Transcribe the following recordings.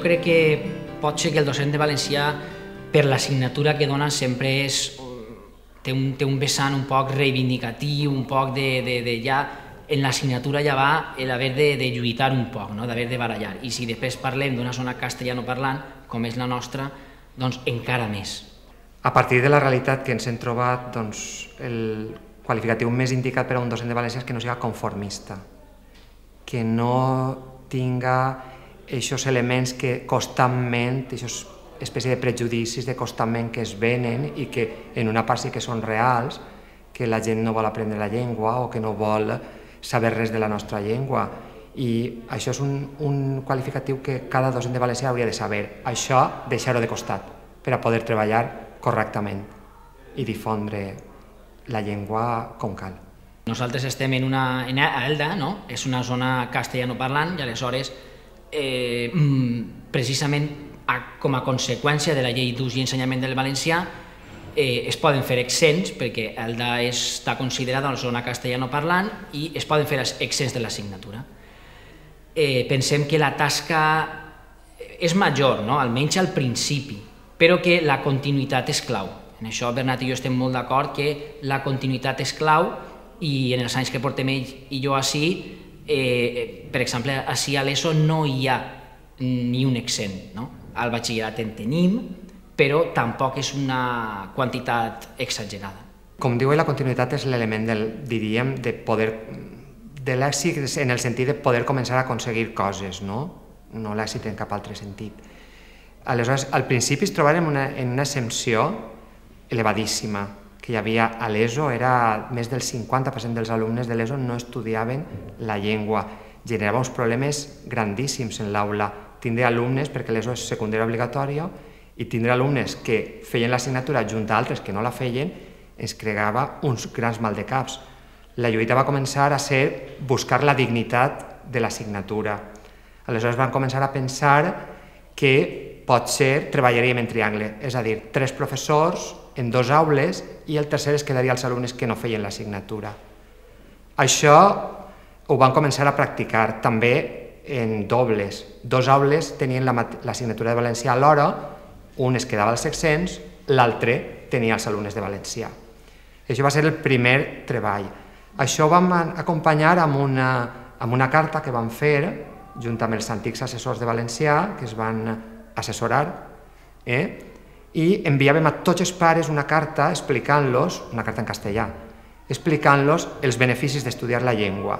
crec que pot ser que el docent de valencià, per l'assignatura que dona, sempre té un vessant un poc reivindicatiu, un poc de ja, en l'assignatura ja va l'haver de lluitar un poc, d'haver de barallar. I si després parlem d'una zona castellanoparlant, com és la nostra, doncs encara més. A partir de la realitat que ens hem trobat, el qualificatiu més indicat per a un docent de valencià és que no sigui conformista, que no tinga aquests elements que constantment, aquests espècie de prejudicis de constantment que es venen i que en una part sí que són reals, que la gent no vol aprendre la llengua o que no vol saber res de la nostra llengua. I això és un qualificatiu que cada docent de valencià hauria de saber. Això, deixar-ho de costat per a poder treballar correctament i difondre la llengua com cal. Nosaltres estem en Elda, és una zona castellanoparlant i aleshores precisament com a conseqüència de la llei d'ús i ensenyament del valencià es poden fer exents, perquè Elda està considerada una zona castellanoparlant i es poden fer exents de l'assignatura. Pensem que la tasca és major, almenys al principi, però que la continuïtat és clau. En això Bernat i jo estem molt d'acord que la continuïtat és clau i en els anys que portem ell i jo així, per exemple, així a l'ESO no hi ha ni un exent. Al batxillerat en tenim, però tampoc és una quantitat exagerada. Com diu, la continuïtat és l'element, diríem, de l'èxit en el sentit de poder començar a aconseguir coses, no l'èxit en cap altre sentit. Aleshores, al principi es trobàvem en una exempció elevadíssima que hi havia a l'ESO, més del 50% dels alumnes de l'ESO no estudiaven la llengua. Generava uns problemes grandíssims en l'aula, tindre alumnes, perquè l'ESO és secundària obligatòria, i tindre alumnes que feien l'assignatura junt a altres que no la feien, ens creava uns grans maldecaps. La lluita va començar a ser buscar la dignitat de l'assignatura. Aleshores van començar a pensar que potser treballaríem en triangle, és a dir, 3 professors en 2 aules i el tercer es quedaria als alumnes que no feien l'assignatura. Això ho van començar a practicar també en dobles. 2 aules tenien l'assignatura de valencià alhora, un es quedava als exents, l'altre tenia els alumnes de valencià. Això va ser el primer treball. Això ho vam acompanyar amb una carta que vam fer junt amb els antics assessors de valencià que es van assessorar i enviàvem a tots els pares una carta explicant-los, una carta en castellà, explicant-los els beneficis d'estudiar la llengua.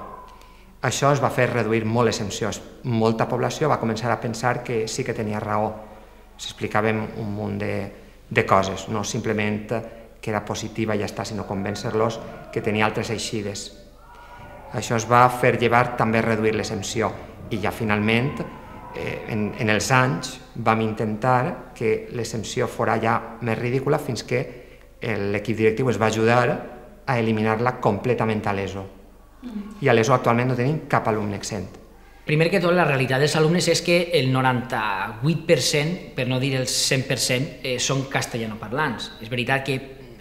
Això es va fer reduir molt les exempcions. Molta població va començar a pensar que sí que tenia raó. S'explicàvem un munt de coses, no simplement que era positiva i ja està, sinó convèncer-los que tenia altres eixides. Això es va fer llevar també reduir l'exempció i ja finalment, en els anys, vam intentar que l'exempció fora ja més ridícula fins que l'equip directiu es va ajudar a eliminar-la completament a l'ESO. I a l'ESO actualment no tenim cap alumne exempt. Primer que tot, la realitat dels alumnes és que el 98%, per no dir el 100%, són castellanoparlants. És veritat que,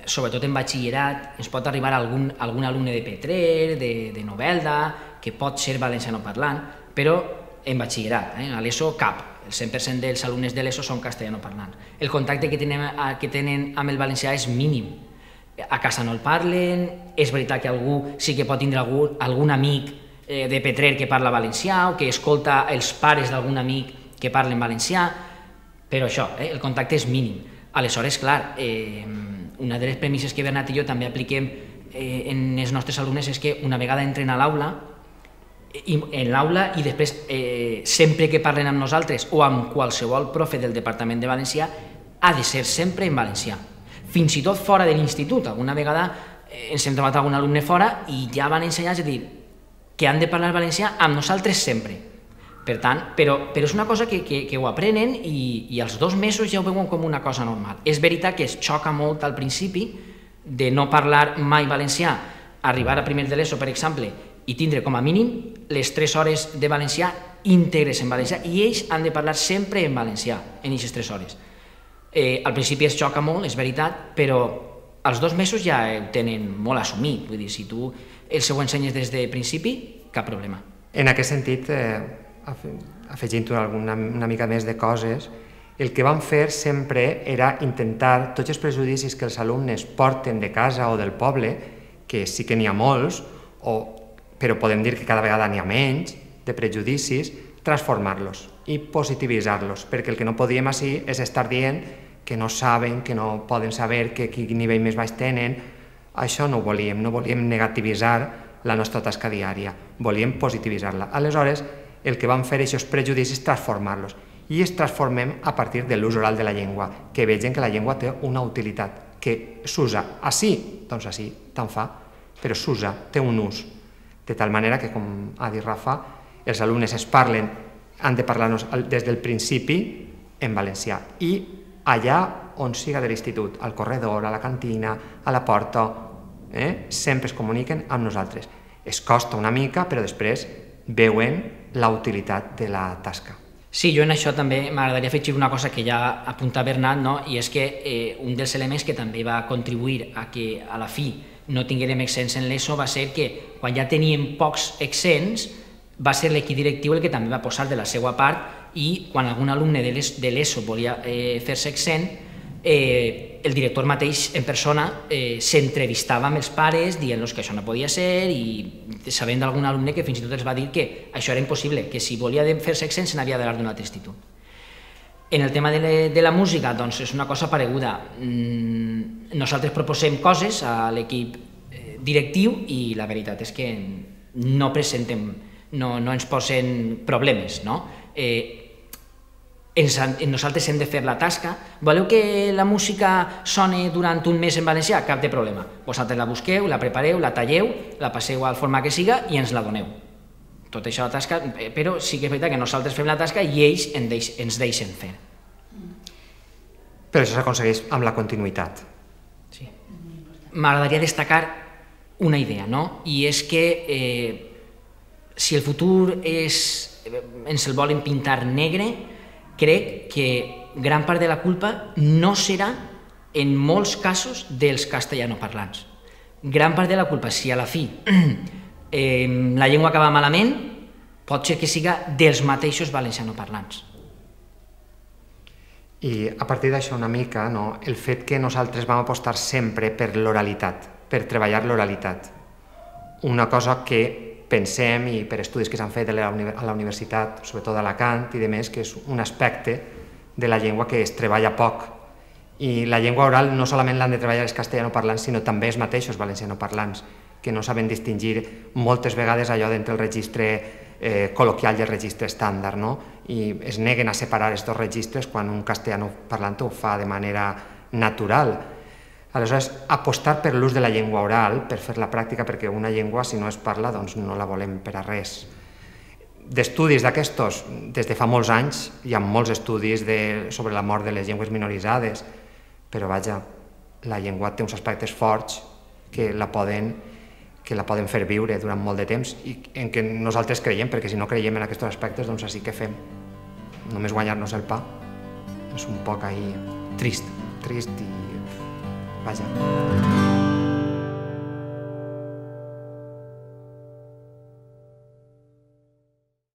sobretot en batxillerat, ens pot arribar algun alumne de Petrer, de Novelda, que pot ser valencianoparlant, però en batxillerat, a l'ESO cap. El 100% dels alumnes de l'ESO són castellanoparlants. El contacte que tenen amb el valencià és mínim. A casa no el parlen, és veritat que algú sí que pot tindre algun amic de Petrer que parla valencià o que escolta els pares d'algun amic que parlen valencià, però això, el contacte és mínim. Aleshores, clar, una de les premisses que Bernat i jo també apliquem en els nostres alumnes és que una vegada entren a l'aula, i després sempre que parlen amb nosaltres o amb qualsevol profe del Departament de Valencià, ha de ser sempre en valencià. Fins i tot fora de l'institut. Alguna vegada ens hem trobat algun alumne fora i ja van ensenyar a dir que han de parlar valencià amb nosaltres sempre. Per tant, però és una cosa que ho aprenen i als 2 mesos ja ho veuen com una cosa normal. És veritat que es xoca molt al principi de no parlar mai valencià, arribar a primer de l'ESO, per exemple, i tindre com a mínim les 3 hores de valencià íntegres en valencià i ells han de parlar sempre en valencià en aquestes 3 hores. Al principi es xoca molt, és veritat, però als 2 mesos ja ho tenen molt assumit. Vull dir, si tu els ho ensenyes des de principi, cap problema. En aquest sentit, afegint una mica més de coses, el que vam fer sempre era intentar tots els prejudicis que els alumnes porten de casa o del poble, que sí que n'hi ha molts, però podem dir que cada vegada n'hi ha menys de prejudicis, transformar-los i positivitzar-los, perquè el que no podíem així és estar dient que no saben, que no poden saber, que quin nivell més baix tenen. Això no ho volíem, no volíem negativitzar la nostra tasca diària, volíem positivitzar-la. Aleshores, el que vam fer aquests prejudicis, transformar-los. I els transformem a partir de l'ús oral de la llengua, que vegin que la llengua té una utilitat, que s'usa així, doncs així, tant fa, però s'usa, té un ús. De tal manera que, com ha dit Rafa, els alumnes han de parlar-nos des del principi en valencià. I allà on siga de l'institut, al corredor, a la cantina, a la porta, sempre es comuniquen amb nosaltres. Es costa una mica, però després veuen la utilitat de la tasca. Sí, jo en això també m'agradaria afegir una cosa que ja apunta Bernat, i és que un dels elements que també va contribuir a que a la fi no tinguérem accents en l'ESO va ser que quan ja teníem pocs accents va ser l'equip directiu el que també va posar de la seva part, i quan algun alumne de l'ESO volia fer-se accent, el director mateix en persona s'entrevistava amb els pares dient-los que això no podia ser, i sabent d'algun alumne que fins i tot els va dir que això era impossible, que si volia fer-se accent se n'havia d'anar d'un altre institut. En el tema de la música, doncs és una cosa pareguda. Nosaltres proposem coses a l'equip directiu i la veritat és que no presentem, no ens posen problemes, no? Nosaltres hem de fer la tasca. Voleu que la música soni durant un mes en valencià? Cap de problema. Vosaltres la busqueu, la prepareu, la talleu, la passeu al format que siga i ens la doneu. Tot això la tasca, però sí que és veritat que nosaltres fem la tasca i ells ens deixen fer. Però això s'aconsegueix amb la continuïtat. Sí. M'agradaria destacar una idea, i és que si el futur ens el volen pintar negre, crec que gran part de la culpa no serà, en molts casos, dels castellanoparlants. Gran part de la culpa, si a la fi la llengua acaba malament, pot ser que siga dels mateixos valencianoparlants. I a partir d'això una mica, el fet que nosaltres vam apostar sempre per l'oralitat, per treballar l'oralitat. Una cosa que pensem, i per estudis que s'han fet a la universitat, sobretot d'Alacant i demés, que és un aspecte de la llengua que es treballa poc. I la llengua oral no solament l'han de treballar els castellanoparlants, sinó també els mateixos valencianoparlants, que no saben distingir moltes vegades allò d'entre el registre col·loquial i el registre estàndard, i es neguen a separar aquests dos registres quan un castellanoparlant ho fa de manera natural. Aleshores, apostar per l'ús de la llengua oral, per fer la pràctica, perquè una llengua, si no es parla, doncs no la volem per a res. D'estudis d'aquestos, des de fa molts anys, hi ha molts estudis sobre la mort de les llengües minoritzades, però vaja, la llengua té uns aspectes forts que la poden fer viure durant molt de temps i en què nosaltres creiem, perquè si no creiem en aquests aspectes, doncs així que fem. Només guanyar-nos el pa. És un poc ahí trist i vaja.